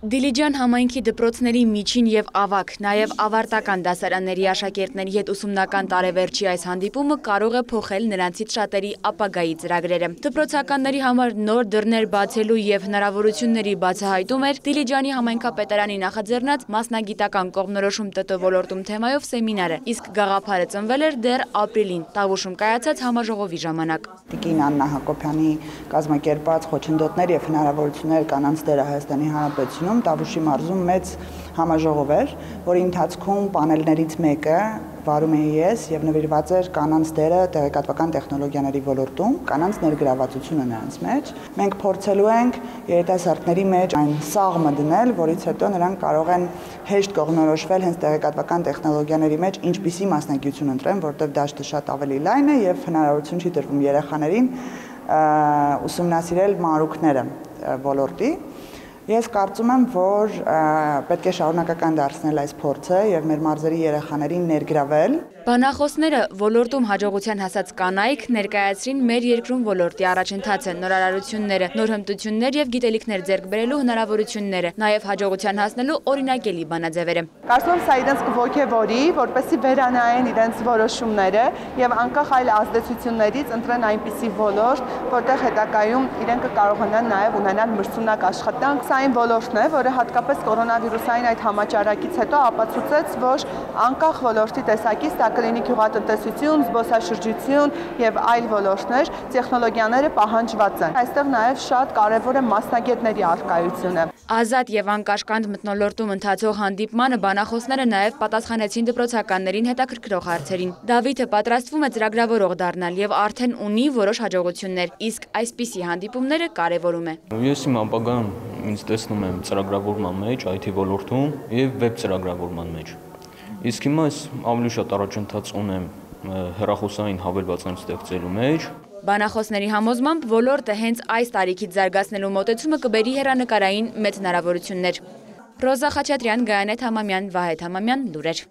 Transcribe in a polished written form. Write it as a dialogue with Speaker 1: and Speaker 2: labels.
Speaker 1: Դիլիջան համայնքի դպրոցների միջին և ավագ, նաև ավարտական դասարանների աշակերտների հետ ուսումնական տարեվերջի այս հանդիպումը կարող է փոխել նրանցից շատերի ապագայի ծրագրերը։ Դպրոցականների համար նոր դռներ բացելու և հնարավորությունների բացահայտում էր Դիլիջանի համայնքապետարանի նախաձեռնած մասնագիտական կողմնորոշում ՏՏ ոլորտում թեմայով սեմինարը, իսկ գաղափարը ծնվել էր դեռ ապրիլին Տավուշում կայացած համաժողովի ժամանակ։
Speaker 2: Տիկին Աննա Հակոբյանի կազմակերպած խոչընդոտներ և հնարավորություններ կանանց դերը Հայաստանի Հանրապետությունում Տավուշի մարզում մեծ համաժողով էր, որի ընթացքում պանելներից մեկը վարում էի ես և նվիրված էր կանանց դերը տեղեկատվական տեխնոլոգիաների ոլորտում, կանանց ներգրավվածությունը նրանց մեջ։ Մենք փորձելու ենք երիտասարդների մեջ այն սաղմը դնել, որից հետո նրանք կարող են հեշտ կողմնորոշվել հենց տեղեկատվական տեխնոլոգիաների մեջ ինչպիսի մասնագիտություն ընտրեն, որտեղ դաշտը շատ ավելի լայն է և հնարավորություն չի տրվում երեխաներին ուսումնասիրել մանրուքները ոլորտի։ Ես կարծում եմ, որ պետք է շարունակական դարձնել այս փորձը և մեր մարզերի երեխաներին ներգրավել։
Speaker 1: Բանախոսները ոլորտում հաջողության հասած կանայք ներկայացրին մեր երկրում ոլորտի առաջընթացը, նորարարությունները, նոր հմտություններ և գիտելիքներ ձեռք բերելու հնարավորությունները, նաև հաջողության հասնելու օրինակելի բանաձևերը։
Speaker 3: Կարծում եմ, սա իրենց կոգևորի, որպեսզի վերանայեն իրենց որոշումները և անկախ այլ ազդեցություններից ընտրեն այնպիսի ոլորտ, որտեղ հետագայում իրենք կկարողանան նաև ունենալ մրցունակ աշխատանք։ Սա այն ոլորտն է, որը հատկապես կորոնավիրուսային այդ համաճարակից հետո ապացուցեց, որ անկախ ոլորտի տեսակից դա կլինի գյուղատնտեսություն, զբոսաշրջություն և այլ ոլորտներ, տեխնոլոգիաները պահանջված են։ Այստեղ նաև շատ կարևոր է մասնագետների առկայությունը։
Speaker 1: Ազատ և անկաշկանդ մթնոլորտում ընթացող հանդիպմանը բանախոսները նաև պատասխանեցին դպրոցականներին հետաքրքրող հարցերին։ Դավիթը պատրաստվում է ծրագրավորող դառնալ և արդեն ունի որոշ հաջողություններ, իսկ այսպիսի հանդիպումները կարևորում է։
Speaker 4: Ես իմ ապագան ինձ տեսնում եմ ծրագրավորման մեջ, IT ոլորտում և վեբ ծրագրավորման մեջ։ Իսկ հիմա ես ավելի շատ առաջընթաց ունեմ հեռախոսային հավելվածային ստեղծելու մեջ։
Speaker 1: Բանախոսների համոզմամբ ոլորտը հենց այս տարիքից զարգացնելու մոտեցումը կբերի հեռանկարային մեծ հնարավորություններ։ Ռոզա Խաչատրյան, Գայանեթ Համամյան, Վահեթ Համամյան, լուրեր։